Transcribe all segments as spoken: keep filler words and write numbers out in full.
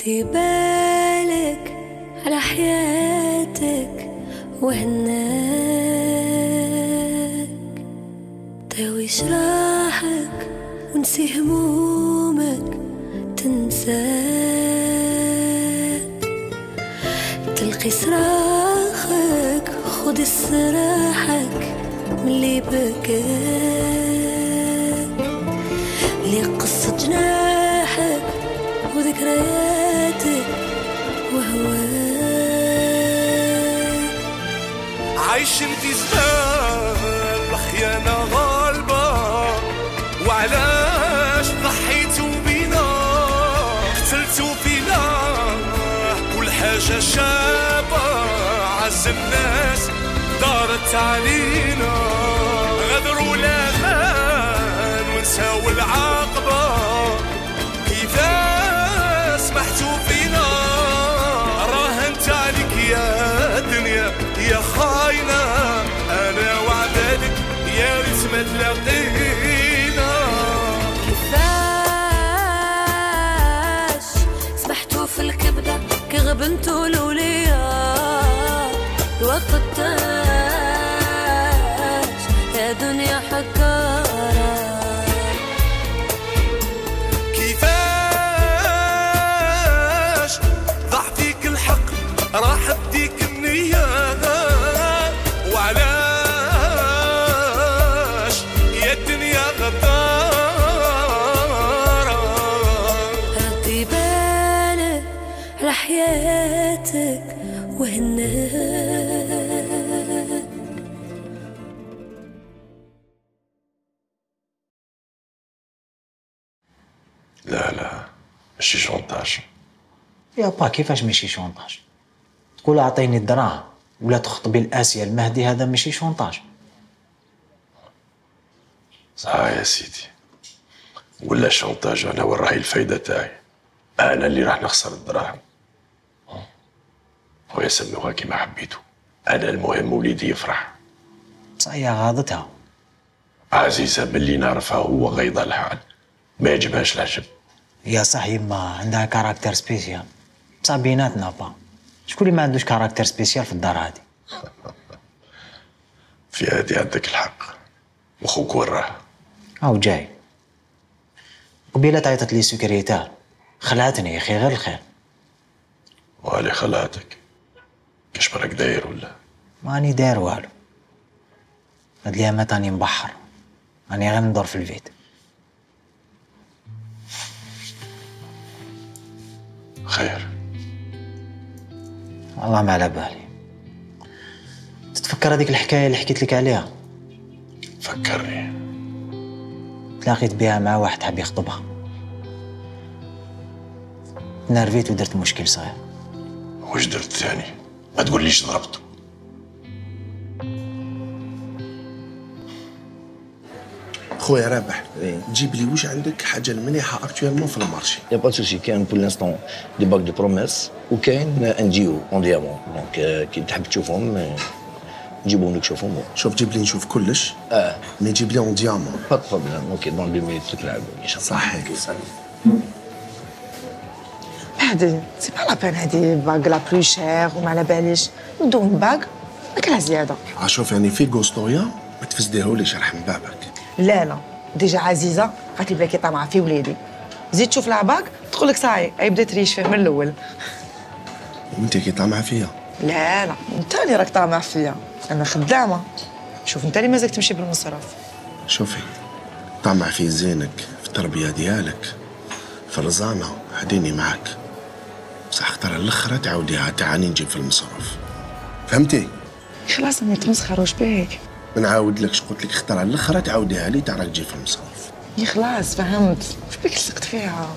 ردي بالك على حياتك وهناك، داوي جراحك ونسي همومك تنساك، تلقي صراخك خد استراحك ملي بكاك، لي قصة جناحك وذكرياتك وهواك. عايشين في زمان الخيانة غالبة، وعلاش ضحيتوا بينا قتلتوا فينا كل حاجة شابة، عز الناس دارت علينا، غدروا الامان ونساو العاقبة، كيفاش سمحتوا فينا، راهنت عليك يا دنيا يا خاينة، انا وعدالك يا ريت ما تلاقينا. كيفاش سمحتوا في الكبدة كي غبنتوا الولياء، الوقت تاج يا دنيا حكارة. كيفاش ضاع فيك الحق راح بديك النية، وعلاش يا الدنيا غدارة. ردي بالك على حياتك وهناك. لا لا ماشي شونطاج. يا با كيفاش ماشي شونطاج؟ تقول اعطيني الدراهم ولا تخطبي الآسية المهدي، هذا ماشي شونطاج. صح يا سيدي، ولا شونطاج انا وين راهي الفايدة تاعي؟ انا اللي راح نخسر الدراهم. خويا سموها كيما حبيتو، انا المهم وليدي يفرح. صحيح غاضتها عزيزة ملي نعرفها هو غيضة الحال، ما يعجبهاش العجب. يا صح يما عندها كاركتر سبيسيال، بصح بيناتنا با شكون اللي ما عندوش كاركتر سبيسيال في الدار هادي؟ في هادي عندك الحق، وخوك وين راه؟ هاو جاي. قبيلة عيطت لي سكريتار خلعتني يا اخي، غير الخير. وهالي خلعتك كاش براك داير ولا؟ ماني داير والو، هاد اليامات راني مبحر، راني غير ندور في البيت. خير والله ما على بالي. تتفكر هذيك الحكايه اللي حكيت لك عليها؟ فكرني. تلاقيت بها مع واحد حاب يخطبها، تنرفيت ودرت مشكل صغير. واش درت ثاني؟ ما تقوليش ضربته. خويا رابح، تجيب لي واش عندك حاجه المليحه اكطوالمون في المارشي؟ يا با سوسي، كاين بور لانستون دي باك دو بروميس وكاين ان ديو اون ديامون، دونك كي تحب تشوفهم نجيبهم لك تشوفهم. شوف جيب لي نشوف كلش. اه مي جيب لي اون ديامون. با بروبليم. اوكي دون دو مينيت تلعبوا ان شاء الله. صحيح. هادي سي با لا بين، هادي باغ لا بلو شير وما على باليش، ندو باغ ماكلها زياده. شوف يعني في غوستويا ما تفسديهوليش رحم بابك. لا لا ديجا عزيزه قالت لي بلاكي طامعه في وليدي، زيد تشوف لها باغ تقول لك صاي هي بدات تريش فيه من الاول. وانت كي طامعه فيا؟ لا لا انت اللي راك طامع فيا، انا خدامه. شوف انت اللي مازالك تمشي بالمصرف. شوفي طامع في زينك، في التربيه ديالك، في الرزانه، هديني معاك، بصح اختار الاخرى تعاوديها تعاني نجيب في المصرف، فهمتي؟ خلاص ما تمسخر واش بيك؟ نعاود لك قلت لك اختار الاخرى تعاوديها لي تاع راك تجي في المصرف. يا خلاص فهمت، واش بيك لصقت فيها؟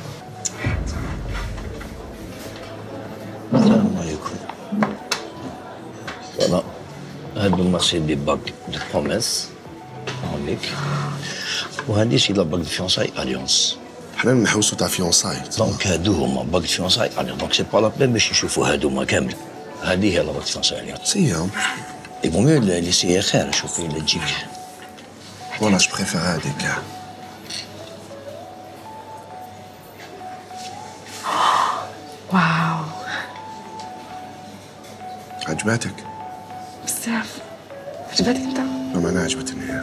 السلام عليكم. فوالا هادو المارشي دي باك دو بروميس هونيك، وهادي سي لا باك دو فيونساي اليونس. حنا نحوسو تاع فيونساي. دونك هادو هما باك دو فيونساي اليونس، دونك سي با لا بين باش نشوفو هادوما كامل. هادي هي لا باك دو فيونساي اليونس. سي اي بون ميو ليسيي خير، شوفي الا تجيك. والله جو بريفير هاديك كاع. واو عجباتك؟ بزاف. عجبتك انت؟ ما انا عجبتني.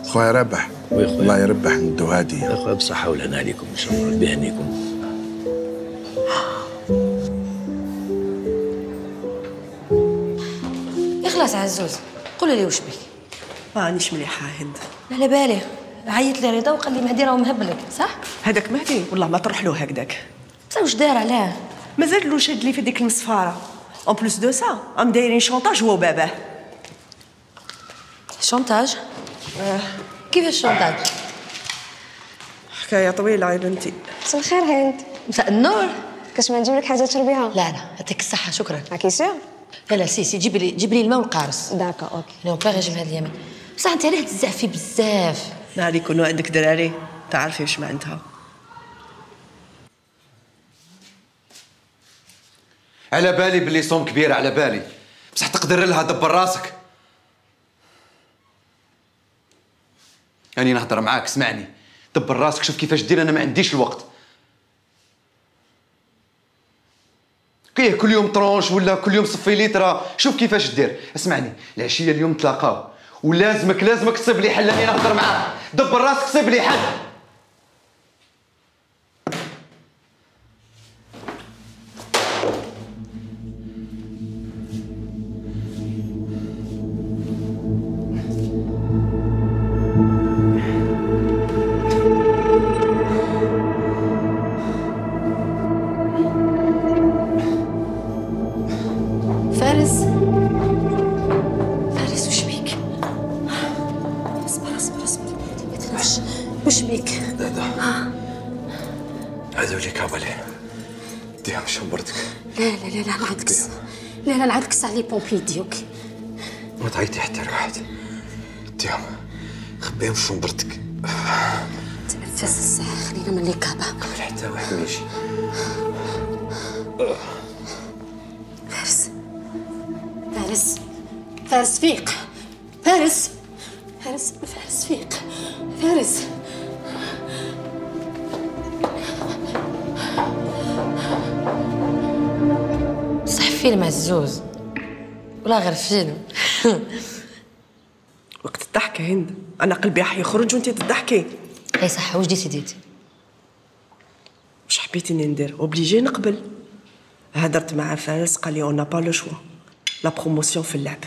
خويا رابح. وي خويا. الله يربح ندو هاديه. اخويا بصحة والهنا عليكم ان شاء الله، بيهنيكم. خلاص عزوز، قولي لي واش بك؟ مانيش مليحه هند. لا على بالي، عيط لي رضا وقال لي مهدي راه مهبلك، صح؟ هذاك مهدي والله ما تروح له هكذاك. بصح واش دار علاه؟ مازال له شاد لي في ديك المصفاره. اون بلوس دو سا ام دايرين شونطاج هو وباباه. شونتاج؟ آه. كيفاش شونتاج؟ حكايه طويله يا بنتي. مساء الخير هند. مساء النور. كاش ما نجيب لك حاجه تشربيها؟ لا لا يعطيك الصحه شكرا. راكي سير؟ لا لا سي سي جيبي لي جيبي لي الماء والقارص. داكا اوكي. انا باغي نجيب هاد اليمين. بصح انت علاه تزعفي بزاف؟ نهار يكونوا عندك دراري تعرفي واش معناتها. على بالي بلي صوم كبير، على بالي، بصح تقدر لها دبر راسك. راني نهضر معاك، اسمعني، دبر راسك، شوف كيفاش دير، انا ما عنديش الوقت. كاين كل يوم طرونش ولا كل يوم صفي ليترا، شوف كيفاش دير. اسمعني، العشيه اليوم تلاقاو ولازمك لازمك تصيب لي حل، راني نهضر معاك، دبر راسك صيب لي حل. فارس فارس وش بيك؟ اصبر اصبر اصبر وش وش بيك؟ لا لا هذول لي كابالي ديهم شمبرتك. لا لا لا لا العكس. لا لا العكس على لي بومبي ديوك. ما تعيطي حتى لواحد، ديهم خبيهم في شمبرتك. تنفس الساعة، خلينا من لي كابا. قبل حتى واحد ما يجي. فارس فارس فارس فيق. فارس فارس فارس فيق. فارس صح فيلم عزوز ولا غير فيلم؟ وقت الضحكه هند انا قلبي راح يخرج وانتي تضحكي. اي صح. واش ديسيديتي؟ واش حبيتيني ندير؟ اوبليجي نقبل. هدرت مع فارس قال لي اون با لو شوا، لا بروموسيون في اللعب.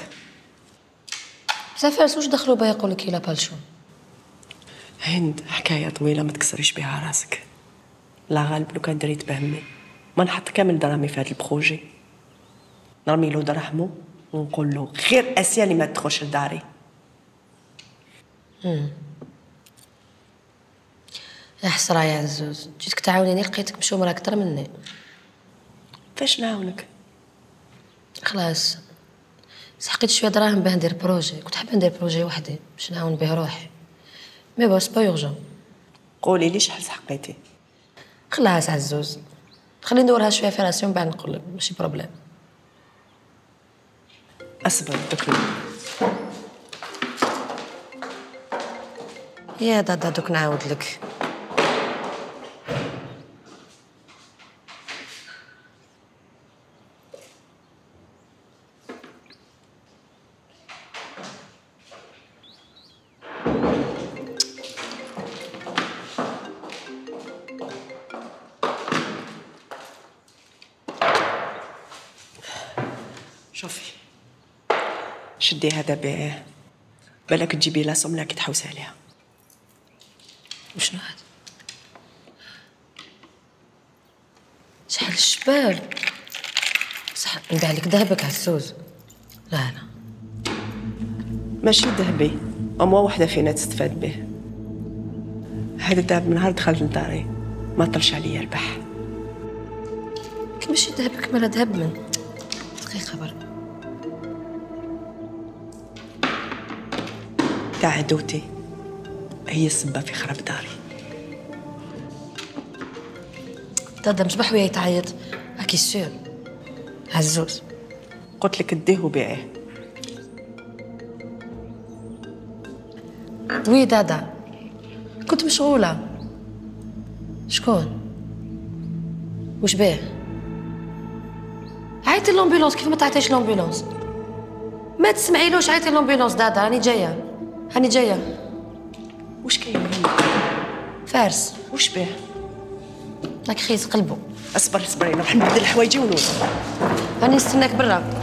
بصح فارس واش دخلوا بها يقول لك لا بالشو؟ هند حكايه طويله ما تكسريش بها راسك. لا غالب لو كان دريت بهمي ما نحط كامل دراهمي في هذا البروجي، نرمي له دراهمو ونقول له خير اسيا اللي ما تدخلش لداري. امم يا حسره يا عزوز، جيتك تعاونيني لقيتك مشومره اكثر مني. فاش نعاونك؟ خلاص سحقيت شويه دراهم باه ندير بروجي، كنت حابه ندير بروجي وحدي باش نعاون به روحي، مي بون سبا يورجون. قولي لي شحال سحقيتي؟ خلاص عزوز خليني ندورها شويه في راسي ومن بعد نقول لك، ماشي بروبليم. اصبر دوك يا دادا دوك نعاود لك. شوفي شدي هذا بيعيه، بالك تجيبي لا سمنه كي تحوسي عليها. وشنو هذا؟ شحال الشبال، صح نبيع لك ذهبك عزوز. لا لا ماشي ذهبي، أما وحده فينا تستفاد به. هذا الذهب من نهار دخلت لداري ما طلش عليا البح. كي ماشي ذهبك مالا ذهب من دقيقة برك. تاع عدوتي هي السبة في خراب داري. دادا مصباح ويا يتعيط اكي سور عزوز. قلت لك اديه وبيعيه. وي دادا كنت مشغولة. شكون؟ وش بيه؟ عيطي لومبيلونس. كيف ما تعيطيش لومبيلونس؟ ما تسمعيلوش، عيطي لومبيلونس. دادا راني جايه، راني جايه. واش كاين؟ فارس. واش بيه؟ راك خيس قلبو. اصبري اصبري، نروح نبدل حوايجي ونوض. راني نستناك برا.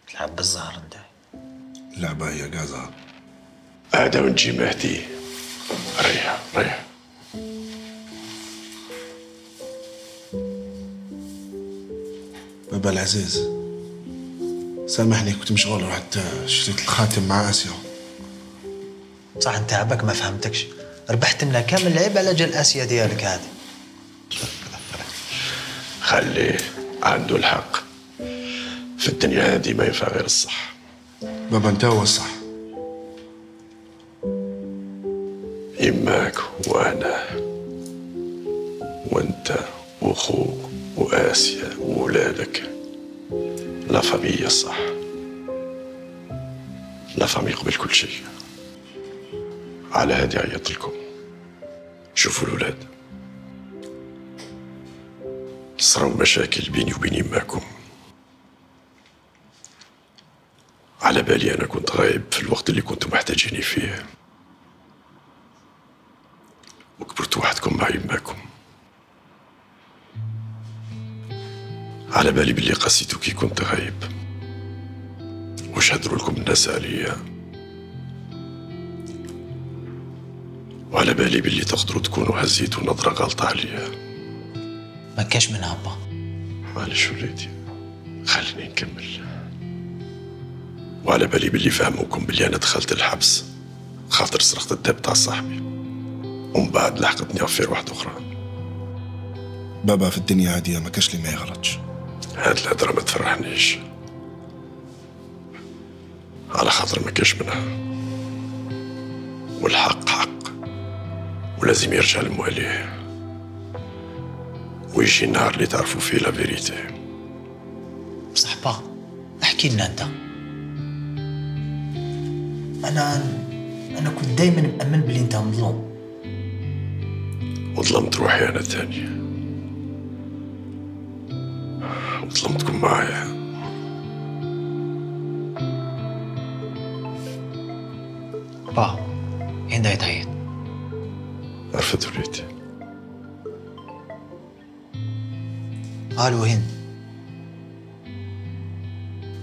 تلعب بالزهر انت. اللعبة هي قازها. هذا ونجي مهدي. ريح ريح. بابا العزيز سامحني، كنت مشغول، رحت شريت الخاتم مع اسيا. صح انت عباك ما فهمتكش، ربحت لنا كامل العيب على جال اسيا ديالك هذه. خليه عنده الحق، في الدنيا هذه ما ينفع غير الصح. بابا انت هو الصح. يماك وانا وانت واخوك واسيا وولادك، لا فاميليا الصح. لا فامي قبل كل شيء. على هادي عيط لكم. شوفوا الولاد، صراو مشاكل بيني وبين يماكم. على بالي انا كنت غايب في الوقت اللي كنتم محتاجيني فيه، وكبرت وحدكم مع يماكم. على بالي باللي قسيتو كي كنت غايب، وش هدروا لكم الناس عليا. وعلى بالي باللي تقدروا تكونوا هزيتوا نظرة غلطة عليا. ما كاش منها با. معلش وليدي، خليني نكمل. وعلى بالي باللي فهموكم باللي انا دخلت الحبس خاطر سرقت الدب تاع صاحبي، ومن بعد لحقتني عفير واحدة أخرى. بابا في الدنيا هادية ما كاش اللي ما يغلطش. هاد الهدرة ما تفرحنيش، على خاطر ما كاش منها، والحق حق ولازم يرجع لمواليه، ويجي النهار اللي تعرفوا فيه لا فيريتي. بصح با احكي لنا انت. انا انا كنت دايما مأمن بلي انت مظلوم، وظلمت روحي انا تاني، وظلمتكم معايا. با هند يتعيط. عرفت وليدي. الو هند،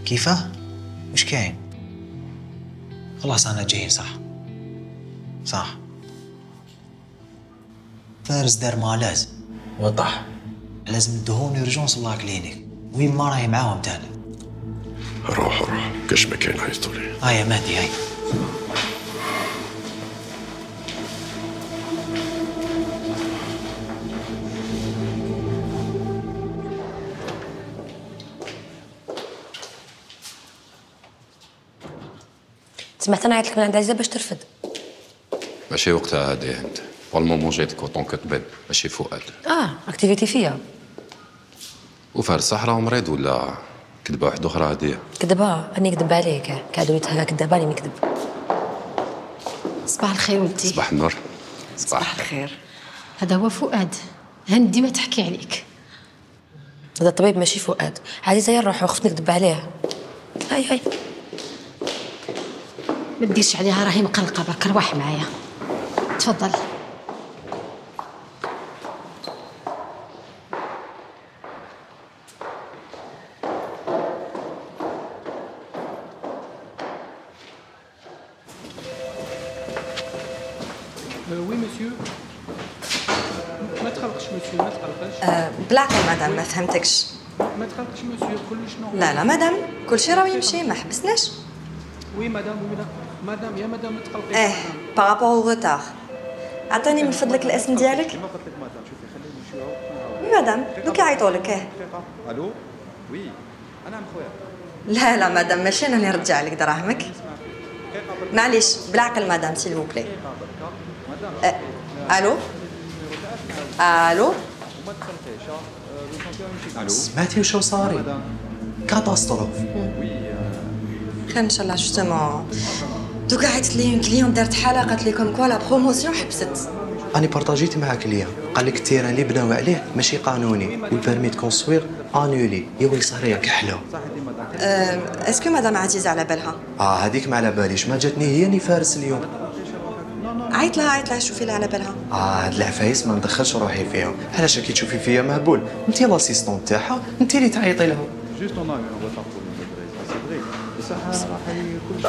كيفاه؟ وش كاين؟ خلاص انا جاي. صح صح. فارس دار ما لازم وضح، لازم الدهون يرجعون نصلها كلينيك، وين ما راهي معاهم تاني. روح روح كاش ما كاين عيطوا لي. ها يا مهدي هاي. سمعت انا عيطت لك من عند عزيزه باش ترفد. ماشي وقتها هادي انت، بور المومون جيتك اوطون كطبيب ماشي فؤاد. اه اكتيفيتي فيا. وفارس صح راه مريض ولا كذبه واحده اخرى هاديه؟ كذبه راني نكذب عليك، كادو هكا كذابه راني نكذب. صباح الخير ولدي. صباح النور. صباح الخير. هذا هو فؤاد، هند ديما تحكي عليك. هذا الطبيب ماشي فؤاد. عزيزه يا نروحو، خفت نكذب عليه. هاي هاي ما ديرش عليها، راهي مقلقه برك. روح معايا تفضل. وي مسيو. ما تقلقش مسيو، ما تقلقش. بالعقل مدام، ما فهمتكش. ما تقلقش مسيو، كلش نورمال. لا لا مدام، كل شيء راه يمشي، ما حبسناش. وي مدام، وي مدام، يا مدام ما تقلقيش. ايه بارابور او روتار. عطيني من فضلك الاسم ديالك. كيما قلت لك مدام، شوفي خليني نمشيو. وي مدام، دوك يعيطوا لك. ايه الو وي انا خويا. لا لا مدام، ماشي انا اللي نرجع لك دراهمك. معليش بالعقل مدام سيل فو بلي. الو الو. وما تقلقيش، سمعتي وشو صاري؟ كاتاستروف. خير ان شاء الله. جوستومون دوكا عيطت لي اون كليون دارت حاله قالت لي كوم كوا لا بروموسيون حبست. أنا بارطاجيت معاك ليا قال لك التيران اللي بناو عليه ماشي قانوني والبيرمي دو كونستروير انولي. يا ويلي صهريه كحله. اسكو مدام عزيزه على بالها؟ اه هذيك ما على باليش، ما جاتني هي ني فارس اليوم. عيط لها عيط لها شوفي لها على بالها. اه هاد العفايس ما ندخلش روحي فيهم. علاش كي تشوفي فيا مهبول؟ انت لاسيستون تاعها، انت اللي تعيطي لها. جوست اون ا اون روتار بور سي فري بصح راح كل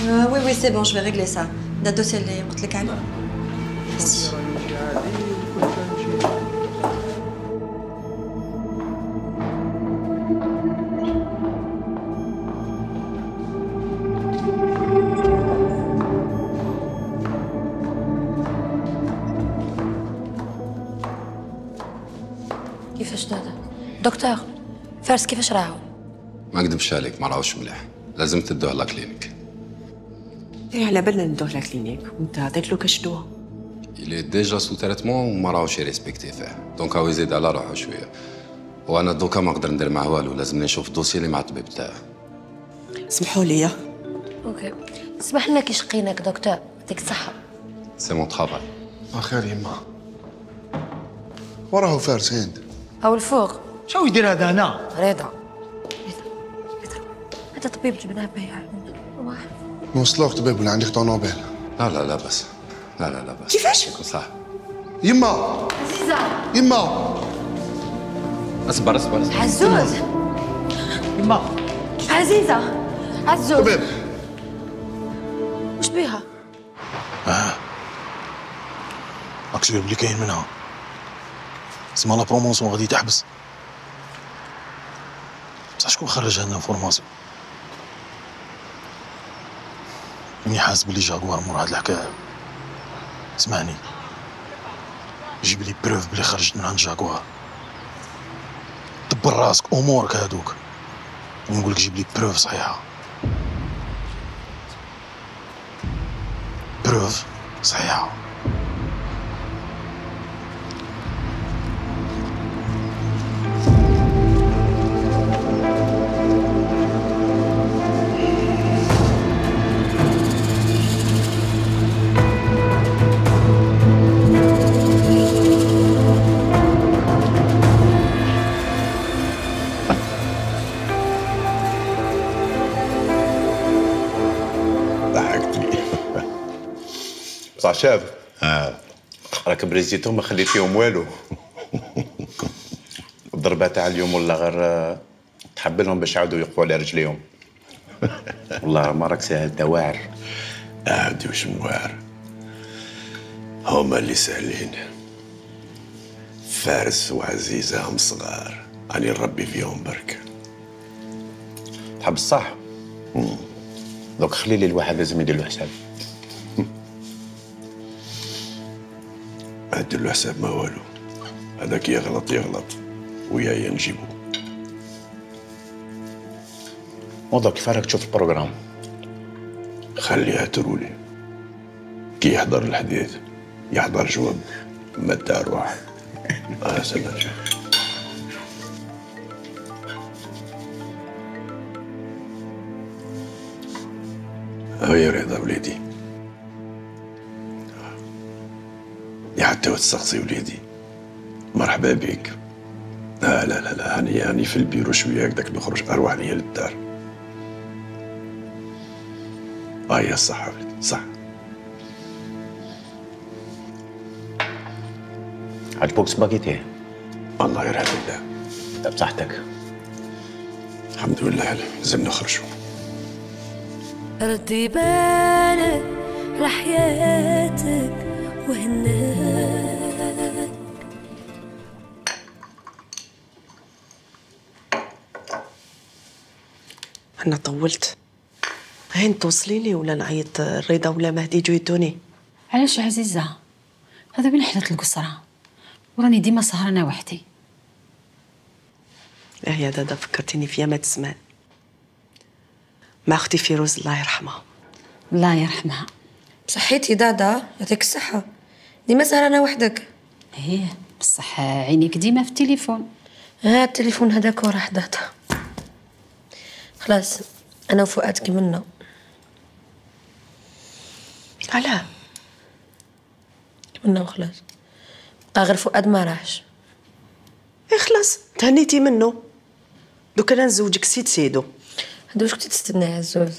شيء وي وي سي بون جو في ريغلي سا. دا الدوسي اللي قلت لك عليه. كيفاش دادا؟ دكتور فارس كيفاش راهو؟ ما نكذبش عليك ما راهوش مليح، لازم تدوه لا كلينيك. ايه على بالنا ندوه لا كلينيك وانت عطيت له كاش دواء. إلي ديجا سو تريتمون وما راهوش يريسبكتي فيه، دونك هاو يزيد على روحو شويه. وانا دوكا ما نقدر ندير معاه والو، لازمني نشوف الدوسي اللي مع الطبيب تاعه. سمحوا لي. اوكي اسمح لنا كي شقيناك دكتور، يعطيك الصحه. سي مون طرافاي. خير يما. وراه فارس هند. او الفوق. شو يدير هذا هنا؟ رضا. هذا طبيب جبناه بيع. نوصلوك طبيب ولا عندك طونوبيل؟ لا لا لا بس. لا لا لا بس. كيفاش؟ صح. يما. عزيزة. يما. اصبر اصبر اصبر. عزوز. يما. عزيزة. عزوز. طبيب. وش بيها؟ اه راك شويه بلي كاين منها. اسمها لا برومونسيون غادي تحبس. بصح شكون خرج لنا انفورماسيون؟ راني حاس بلي جاكوار مور هاد الحكايه. اسمعني جيب لي بروف بلي خرجت من عند جاكوار. دبر راسك امورك هادوك ونقول لك جيب لي بروف صحيحه. بروف صحيحه. صح شاف؟ اه راك بريزيتهم ما خليت فيهم والو. الضربه تاع اليوم ولا غير تحبلهم باش يعاودوا يقفوا على رجليهم. والله ما راك ساهل دواعر. عادي وش مواعر، هما اللي ساهلين. فارس وعزيزة هم صغار، راني نربي فيهم برك. تحب الصح؟ دوك خلي لي الواحد لازم يدير له حساب. ما ندير له حساب ما والو، هذاك يغلط يغلط ويايا نجيبو. موضوع كيف راك تشوف البروغرام؟ خليها ترولي، كي يحضر الحديث يحضر جواب ما دار واحد. اه سلام. هيا رضا وليدي، يا حتى وتسقسي وليدي مرحبا بك. لا لا لا لا هاني هاني في البيرو شويه هكذاك نخرج اروح ليا للدار. اه يا صح وليدي صح. عجبوك سباغيتي؟ الله يرحم الله. بصحتك؟ الحمد لله لازم نخرجوا. ردي بالك لحياتك وهناك. أنا طولت. هين توصلي لي ولا نعيط رضا ولا مهدي يجوا يدوني؟ علاش عزيزة؟ هذا من حدث القصرة وراني ديما سهرانة وحدي. اه يا دادا فكرتيني في يامات زمان مع أختي فيروز الله يرحمها. الله يرحمها. بصحيتي دادا يعطيك الصحة، ديما سهرانة وحدك. ايه بصح عينيك ديما في التليفون. ها التليفون هذاك وراه حداته. خلاص انا وفؤاد كملنا. علاه كملنا وخلاص، بقى غير فؤاد ما راحش. اي خلاص تهنيتي منه، دوك انا نزوجك سيد سيدو. هذا واش كنتي تستنى يا عزوز؟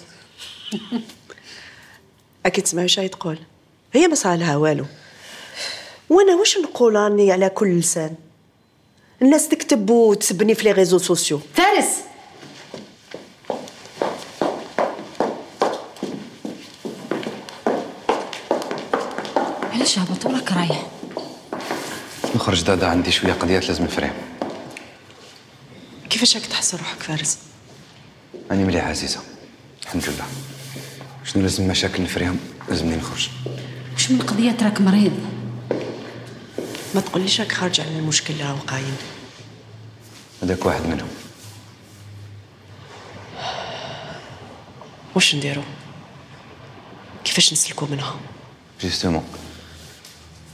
اكيد تسمعي واش تقول، هي ما صالها والو، وانا واش نقول راني على كل لسان، الناس تكتب وتسبني في لي ريزو سوسيو. فارس علاش هبط وراك رايح؟ نخرج دادا، عندي شويه قضيات لازم نفرهم. كيفاش راك تحس روحك فارس؟ راني مليح عزيزه الحمد لله. شنو لازم مشاكل نفرهم؟ لازمني نخرج. واش من قضيه راك مريض؟ ما تقوليش راك خارج على المشكل اللي راهو قايم. هذاك واحد منهم. واش نديرو؟ كيفاش نسلكو منها؟ جوستومون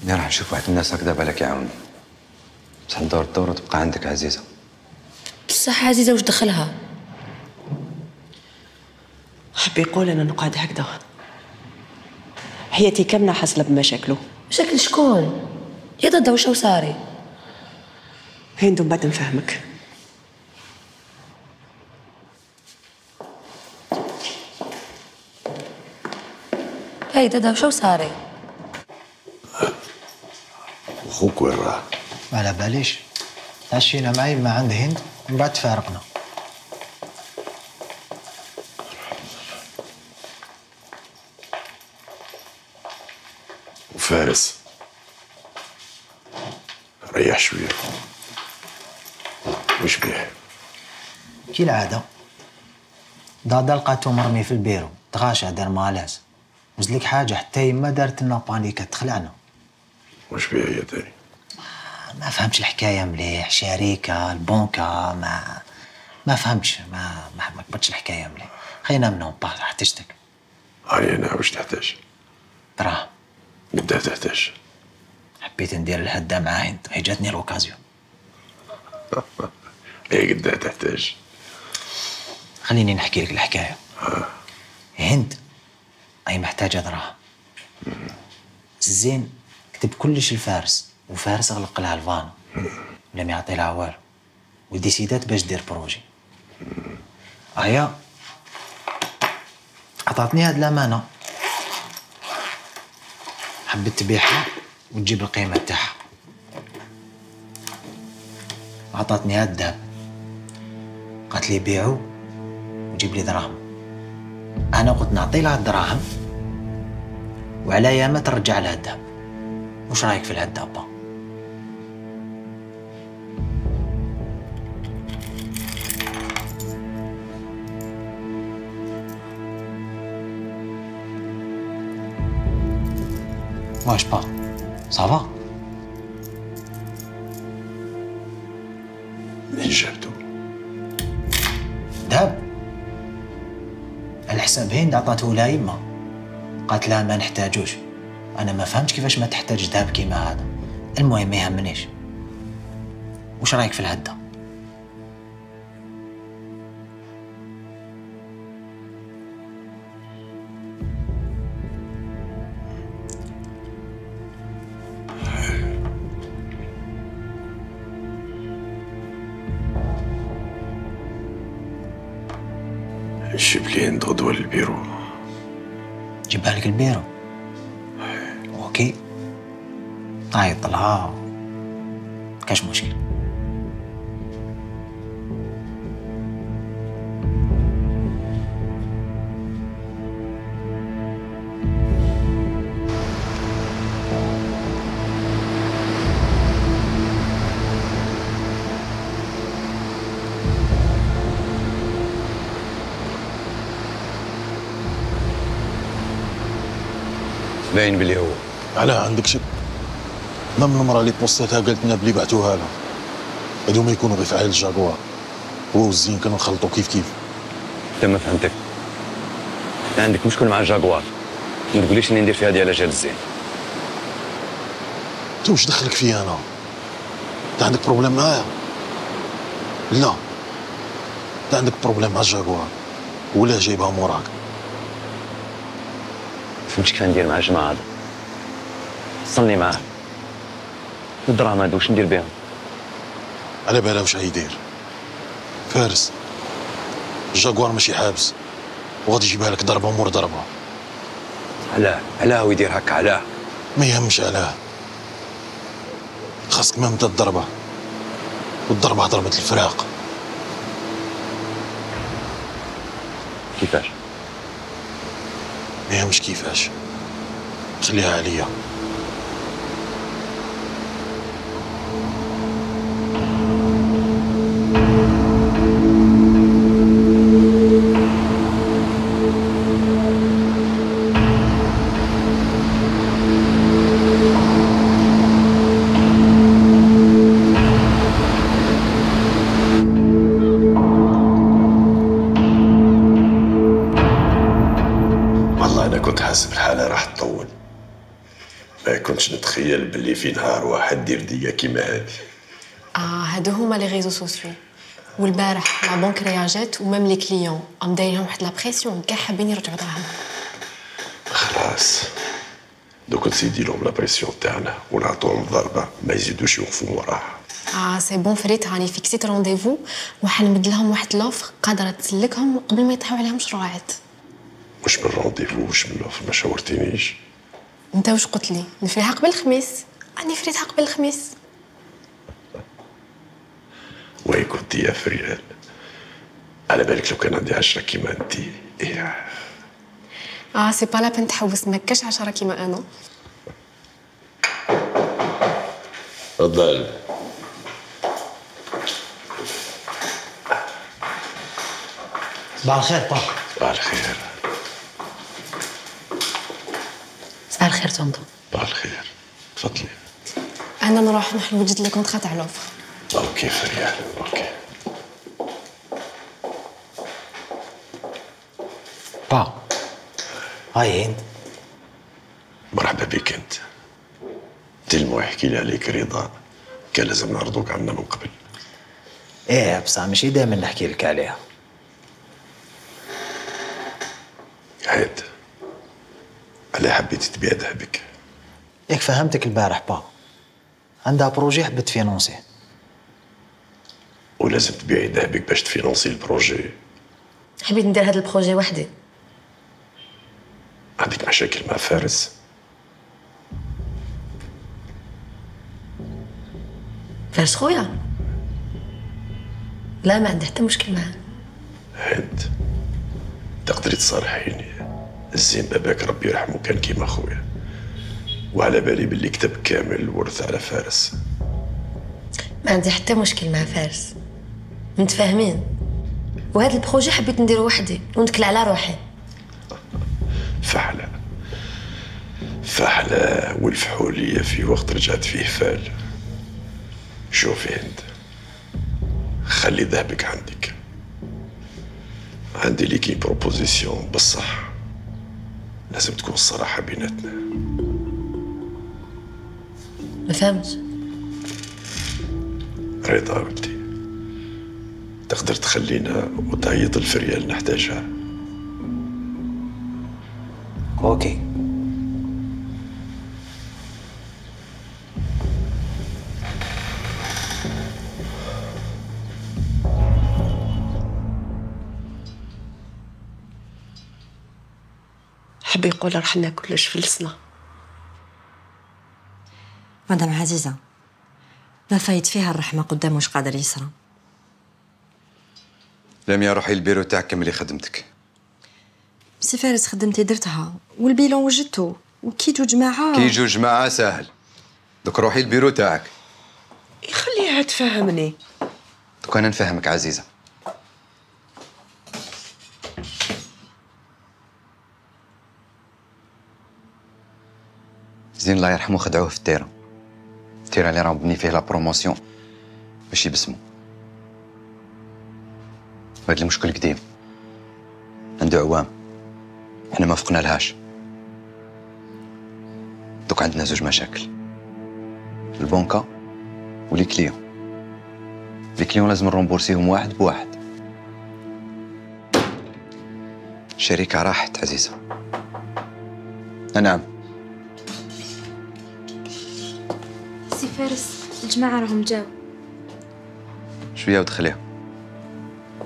انا راح نشوف واحد من الناس هكذا بالك يعاوني، بصح ندور الدور وتبقى عندك عزيزه. بصح عزيزه واش دخلها؟ حب يقول انا نقعد هكذا حياتي كامله حاصله بمشاكله. مشاكل شكون؟ يا ضد واش صاري؟ هندو بعد نفهمك. هاي دادا واش صاري؟ خوك وين راه؟ ما على باليش، تعشينا معي ما عند هند ومن بعد تفارقنا. وفارس ريح شويه. وش بيه؟ كي العاده دادا لقاتو مرمي في البيرو، تغاشى دار مالاس، وزلك حاجه حتى يما دارت لنا بانيكا تخلعنا. وش بيه هي تاني؟ ما فهمتش الحكايه مليح، شركه البنكه ما ما فهمتش، ما ما ما كبرتش الحكايه مليح. خلينا منهم با حتشتك. هاي انا واش تحتاج؟ دراهم. قداه تحتاج؟ حبيت ندير الهده مع هند، هي جاتني لوكازيون. ايه قداه تحتاج؟ خليني نحكي لك الحكايه. هند هي محتاجه دراهم. الزين كتب كلش لفارس، وفارس غلق لها الفان ولم يعطي لها والو، وديسيدات باش دير بروجي. هيا عطاتني هاد الامانه، حبيت تبيعها وتجيب القيمه تاعها. عطاتني هاد الذهب، قالت لي بيعو وجيب لي دراهم. انا قلت نعطي لها الدراهم وعلى ياما ترجع لها الذهب. وش رايك في الهداب با؟ واش با صافا؟ منين جابتو؟ دهب على حساب هند عطاته لها يما، قالت لها ما نحتاجوش. انا ما فهمتش كيفاش ما تحتاج ذهب كيما هذا. المهم ما يهمنيش. وش رايك في الهده؟ جيب لي هند غدوه للبيرو. جيبها لك البيرو. اوكي عيط لها كاش مشكل. باين بلي هو. علاه عندك شك؟ نم المرأة اللي بوستاتها قالت لنا بلي بعتوها لها. هادو ما يكونوا غير فعال الجاكوار. هو والزين كانوا نخلطوا كيف كيف. انت ما فهمتك. انت عندك مشكل مع الجاكوار. ما تقوليش اني ندير في هذه على جال الزين. انت واش دخلك فيا انا؟ عندك بروبليم معايا؟ لا، انت عندك بروبليم مع الجاكوار ولا جايبها موراك؟ فهمتش كيف ندير مع الجماعه هذا. وصلني معاه. الدراهم هادو واش ندير بهم؟ على بالها واش غيدير فارس. الجاكوار ماشي حابس وغادي يجيبها لك ضربه مور ضربه. علاه علاه ويدير هكا علاه؟ ما يهمش علاه، خاصك ما مدى الضربه، والضربه ضربه الفراق. كيفاش؟ ما يهمش كيفاش، خليها عليا. حاسب الحالة راح تطول. ما كنتش نتخيل باللي في نهار واحد دير ديا كيما هادي. اه هادو هما لي ريزو سوسيو. والبارح لا بنك رياجات ومام لي كليون ام دايرهم واحد لا بريسيون كاع حابين يرجعوا دراهم. خلاص دوك نسيدي لهم لا بريسيون تاعنا ونعطوهم ضربة ما يزيدوش يوقفوا وراها. اه سي بون فريت راني فيكسيت رونديفو وحنمد لهم واحد لوفر قادرة تسلكهم قبل ما يطيحوا عليهم مشروعات. واش من رونديفو واش من لوفر ما شاورتينيش. انت واش قلت لي نفريها قبل الخميس؟ راني فريتها قبل الخميس. وي كنت يا فريال على بالك لو كان عندي عشرة كيما انت. إيه. اه سي با لا بين تحوس ما كاش عشرة كيما انا. تفضل. صباح الخير با. صباح الخير. صباح الخير طنطو. صباح الخير. تفضلي. انا نروح نوجد لي كونطرا تاع لوفر. اوكي فريال اوكي. با هاي هند. مرحبا بك انت. تلمو يحكي لي عليك رضا كان لازم نعرضوك عنا من قبل. ايه بصح ماشي دائما نحكي لك عليها. هاد علاه حبيتي تبيع ذهبك؟ ياك فهمتك البارح با، عندها بروجي حبت تفينونسيه. ولازم تبيعي ذهبك باش تفينونسي البروجي. حبيت ندير هذا البروجي وحدي. عندك مشاكل مع فارس؟ فارس خويا؟ لا ما عندي حتى مشكل معاه. هند تقدري تصارحيني، الزين باباك ربي يرحمه كان كيما خويا، وعلى بالي باللي كتب كامل الورث على فارس. ما عندي حتى مشكل مع فارس، متفاهمين، وهذا البروجي حبيت نديرو وحدي ونتكل على روحي. فحلة فحلة والفحولية في وقت رجعت فيه فال. شوفي هند خلي ذهبك عندك، عندي ليكي بروبوزيسيون بصح لازم تكون الصراحة بيناتنا. ما فهمتش. رضا ولدي تقدر تخلينا وتعيط الفريال نحتاجها. اوكي. حب يقول رحنا كلش فلسنا. مدام عزيزة ما فايت فيها الرحمة قدام واش قادر يصرى. لميا روحي البيرو تاعك كملي خدمتك. سي فارس خدمتي درتها والبيلون وجدته وكي جو جماعة. كي جو جماعة ساهل، دوك روحي البيرو تاعك. خليها تفهمني. دوك انا نفهمك عزيزة. زين الله يرحمه خدعوه في التيران، التيران اللي راهم بني فيه لا بروموسيون ماشي باسمو. وهاد المشكل قديم عنده عوام، احنا ما فقنا لهاش. دوك عندنا زوج مشاكل، البنكة ولي كليون. لي كليون لازم نرومبورسيهم واحد بواحد. الشركة راحت عزيزة. نعم. سي فارس الجماعة راهم جاو. شوية ودخليها.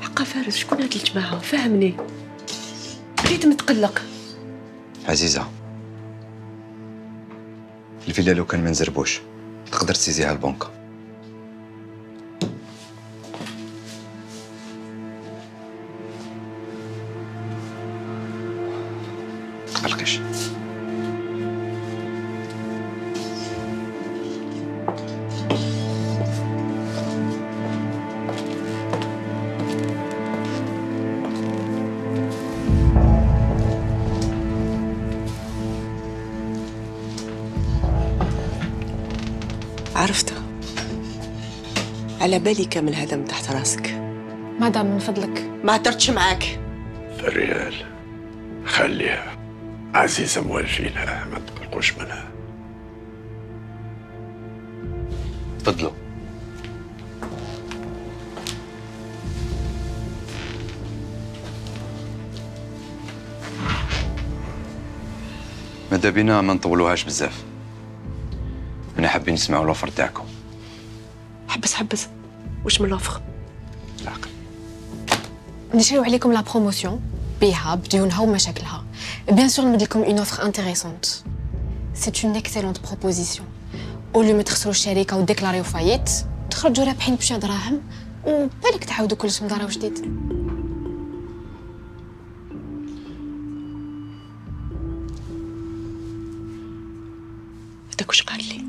حقا فارس شكون هاد الجماعة؟ فهمني. بقيت متقلق. عزيزة الفيلا لو كان ما نزربوش تقدر تسيزيها البنكة. متقلقيش. عرفتها. على بالي كامل هذا من تحت راسك. مدام من فضلك ما هدرتش معاك. فريال خليها، عزيزة موالفينها، ما تقلقوش منها. تفضلوا. ماذا بينا ما نطولوهاش بزاف. أنا حابين نسمعوا الوفر تاعكم. حبس حبس، واش من الوفر؟ نشريو عليكم لا بروموسيون بيها بديونها ومشاكلها. بيان سور نمد لكم اون اوفر انتريسونت. سي اون اكسيلونت بروبوزيسيون. اولو ما تخسروا الشركه وديكلاريو فايت، تخرجوا رابحين بشويه دراهم وبالك تعاودوا كل سنه دار جديد. هذاك واش قال لي؟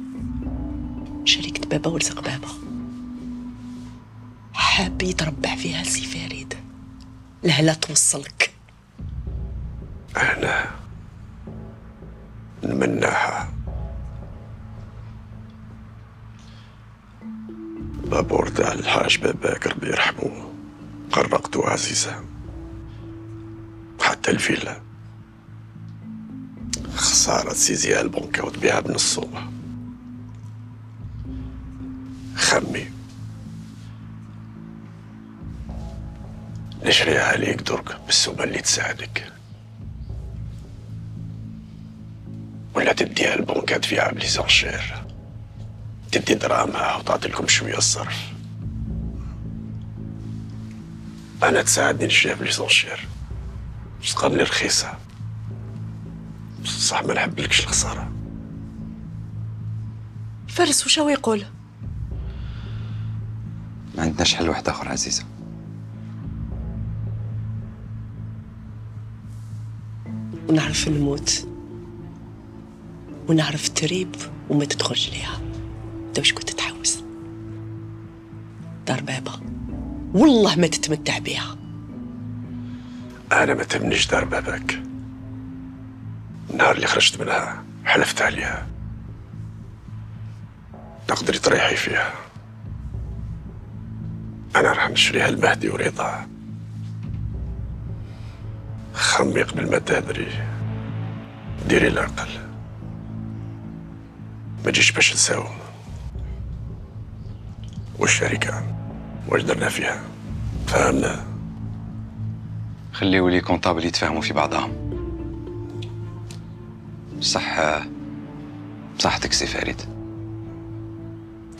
شركة بابا ورزق بابا حاب يتربع فيها سي فريد. لهلا توصلك. أنا نمناها. بابور تاع الحاج باباك ربي يرحمه قرقتو عزيزة، حتى الفيلا خسارة تسيزيها البنكة وتبيعها بنصومة. خمي نشريها عليك درك بالسومة اللي تساعدك، ولا تديها البنكة تبيعها بليزانشير، تدي دراهمها وتعطي لكم شوية الصرف. أنا تساعدني نشريها بليزانشير باش تقرني رخيصة، صح ما نحبلكش الخسارة. فارس وش هو يقول؟ ما عندناش حل واحد آخر عزيزة. ونعرف نموت ونعرف تريب وما تدخلش ليها. انت واش كنت تحوس؟ دار بابا والله ما تتمتع بيها. أنا ما تهمنيش دار باباك. النهار اللي خرجت منها حلفت عليها تقدري تريحي فيها. أنا راح نشريها المهدي ورضا. خمي قبل ما تهدري، ديري العقل، ما تجيش باش نساو. والشركة واش درنا فيها؟ فهمنا. خليوا لي كونطابل يتفاهموا في بعضهم. بصح بصحتك سي فريد.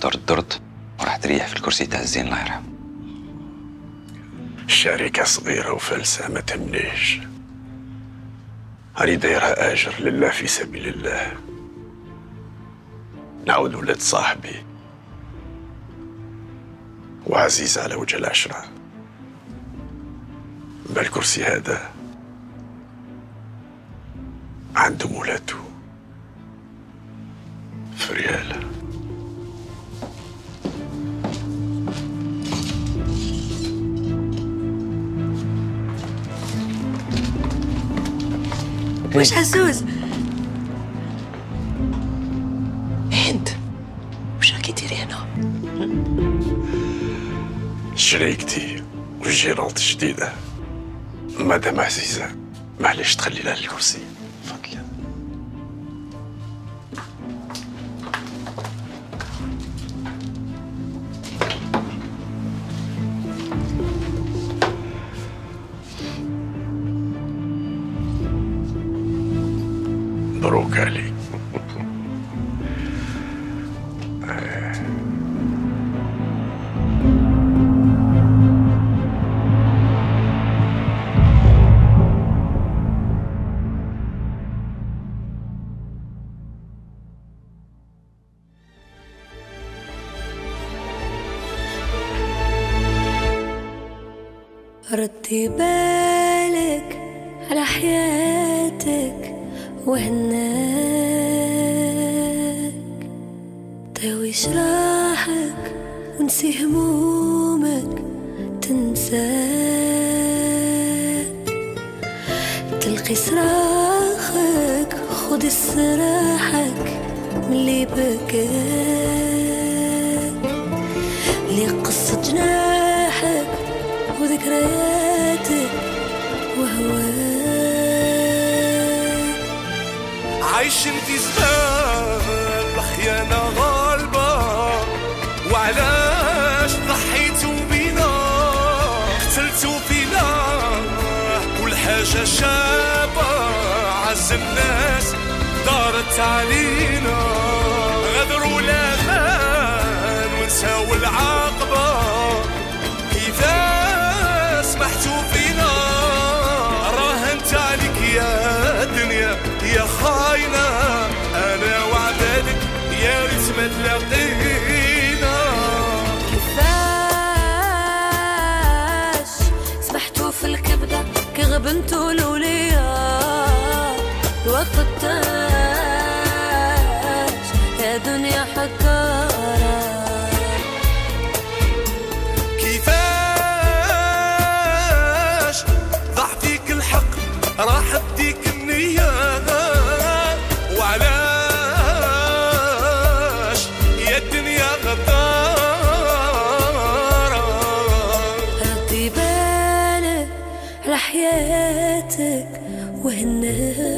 درت درت وراح تريح في الكرسي تاع الزين الله يرحمه. الشركة صغيرة وفلسة ما تهمنيش. هاني دايرها آجر لله في سبيل الله. نعود ولاد صاحبي وعزيز على وجه العشرة. بالكرسي هذا عندهم ولادو فريال. واش عزوز؟ هند واش راكي ديري هنا؟ شريكتي والجيرانت الجديدة مدام عزيزة، معليش تخلي لها الكرسي. تفضلي. مبروك عليك. ردي بالك على حياتك وهناك، داوي جراحك ونسي همومك تنساك، تلقي صراخك خد استراحك ملي بكاك، لي قصة جناحك وذكرياتك وهواك، عايشين في زمان الخيانة غالبة، وعلاش ضحيتوا بينا قتلتوا فينا كل حاجة شابة، عز الناس دارت علينا، غدروا الأمان ونساو العاقبة، كيفاش سمحتوا فينا، راهنت عليك يا دنيا يا خاينة، أنا وعبادك يا ريت ما تلاقينا. كيفاش سمحتوا في الكبدة كي غبنتوا الأولياء، الوقت تاج يا دنيا حكارة، كيفاش ضاع فيك الحق راح بديك النية، وعلاش يا الدنيا غدارة، ردي بالك على حياتك وهناك،